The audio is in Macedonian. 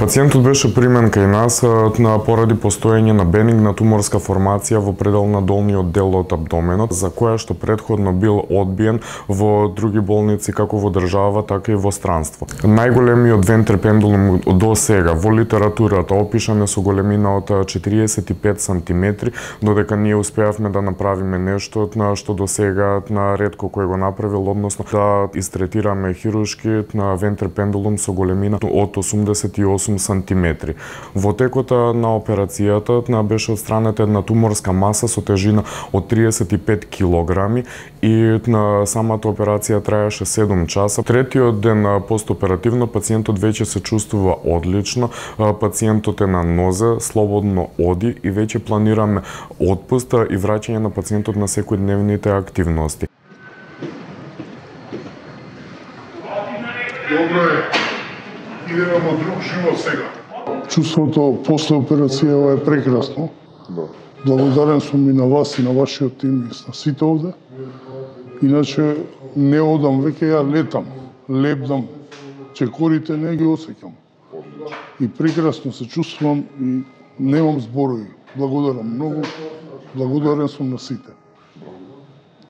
Пациентот беше примен кај нас поради постоење на бенигна туморска формација во предел на долниот дел од абдоменот, за која што претходно бил одбиен во други болници како во држава, така и во странство. Најголемиот вентрепендулум до сега во литературата опишан е со големина од 45 сантиметри, додека ние успеавме да направиме нешто што до сега ретко кој го направил, односно да истретираме хируршки вентрепендулум со големина од 88 сантиметри. Во текот на операцијата беше отстранета една туморска маса со тежина од 35 килограми и на самата операција траеше 7 часа. Третиот ден постоперативно пациентот веќе се чувствува одлично, пациентот е на нозе, слободно оди и веќе планираме отпуст и враќање на пациентот на секојдневните активности. Добро е. Идеме во друг живот сега. Чувството после операција е прекрасно. Благодарен сум и на вас и на вашиот тим и на сите овде. Иначе не одам, веќе ја летам, лепдам, чекорите не ги осеќам. И прекрасно се чувствувам и немам зборови. Благодарам многу, благодарен сум на сите.